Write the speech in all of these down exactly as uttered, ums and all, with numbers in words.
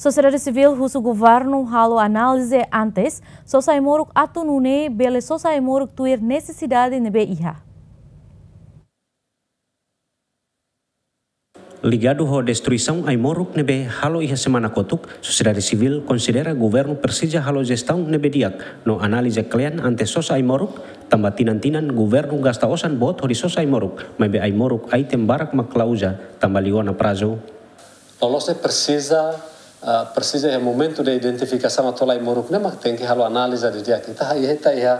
Sosiedade sivíl husu governu halo análize antes sosa ai-moruk atu nune'e bele sosa ai-moruk tuir nesesidade ne'ebé iha. Ligadu ho destruisaun ai-moruk ne'ebé halo iha semana kotuk, sosiedade sivíl konsidera governu presiza halo jestaun ne'ebé di'ak no análize kle'an antes sosa ai-moruk, tanba tinan-tinan governu gasta osan boot hodi sosa ai-moruk, maibé ai-moruk item barak mak la uza, tanba liu ona prazu. Loloos ne'e presiza, ah, presiza iha momentu de identifikasaun atu hola ai-moruk ne'e mak tenke halo análize didi'ak. Ita iha, ita iha,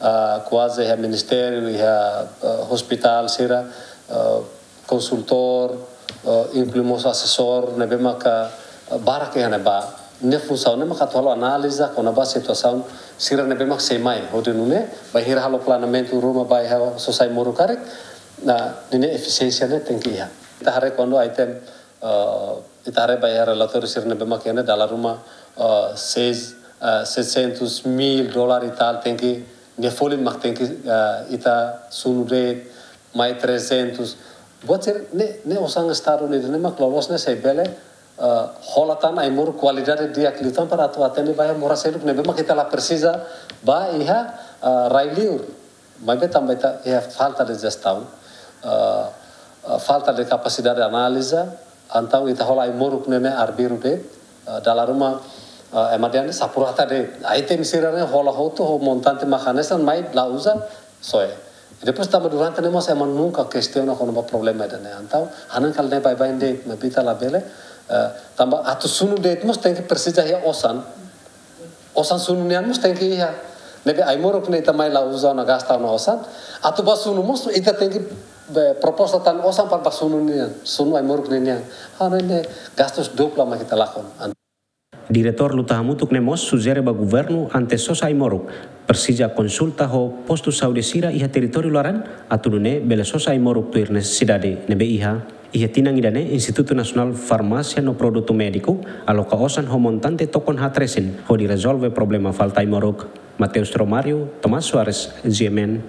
ah, kuaze iha ministériu, iha, ah, ospitál sira, ah, konsultór, ah, inklui mós asesór ne'ebé maka, ah, barak iha ne'ebá. Nia funsaun ne'e maka atu halo análize kona-ba situasaun sira ne'ebé mak sei mai. Hodi nune'e, bainhira halo planeamentu ruma ba iha sosa ai-moruk karik, ninia efisiénsia ne'e tenke iha. Ita haree kuandu item, eh, ita haree ba iha relatóriu sira ne'ebé mak iha ne'e dala ruma, eh, seis, eh, seiscentos mil dólar e tal tenke, nia folin mak tenke, eh, ita sunu de'it, mai trezentos. Buat sira ne'e, ne'e osan Estadu ne'e, ne'e mak loloos ne'e sei bele, eh, hola tan ai-moruk kualidade di'ak liután para atu atende ba iha moras seluk ne'ebé mak ita la presiza ba iha, eh, rai-liur. Maibé tanba ita iha falta de jestaun, eh, eh, falta de kapasidade análize, entaun ita hola ai-moruk ne'e ne'e arbiru de'it, eh, dala ruma, eh, ema dehan ne'e sapurata de'it. Item sira ne'e hola hotu ho montante mak hanesan mai la uza, soe. I depois tanba durante ne'e mós ema nunka kestiona kona-ba problema ida-ne'e. Entaun, hanesan kala ne'e baibain de'it, maibé ita labele, eh, tanba atu sunu de'it mós tenke presiza iha osan. Osan sunu nian mós tenke iha. Ne'ebé ai-moruk ne'e ita mai la uza ona, gasta ona osan. Atu ba sunu mós ita tenke, be, proposta tan osan para ba sunu nian. Sunu ai-moruk ne'e nian. Ha'u hanoin ne'e gastus dupla mak ita lakon. Diretór Luta Hamutuk ne'e mós sujere ba governu antes sosa ai-moruk, presiza konsulta ho postu saúde sira iha territóriu laran, atu nune'e bele sosa ai-moruk tuir nesesidade ne'ebé iha. Iha tinan ida-ne'e, Institutu Nasionál Farmásia no Produtu Médiku aloka osan ho montante tokon haat resin hodi rezolve problema falta ai-moruk. Mateus Romário, Tomás Soares, G M N.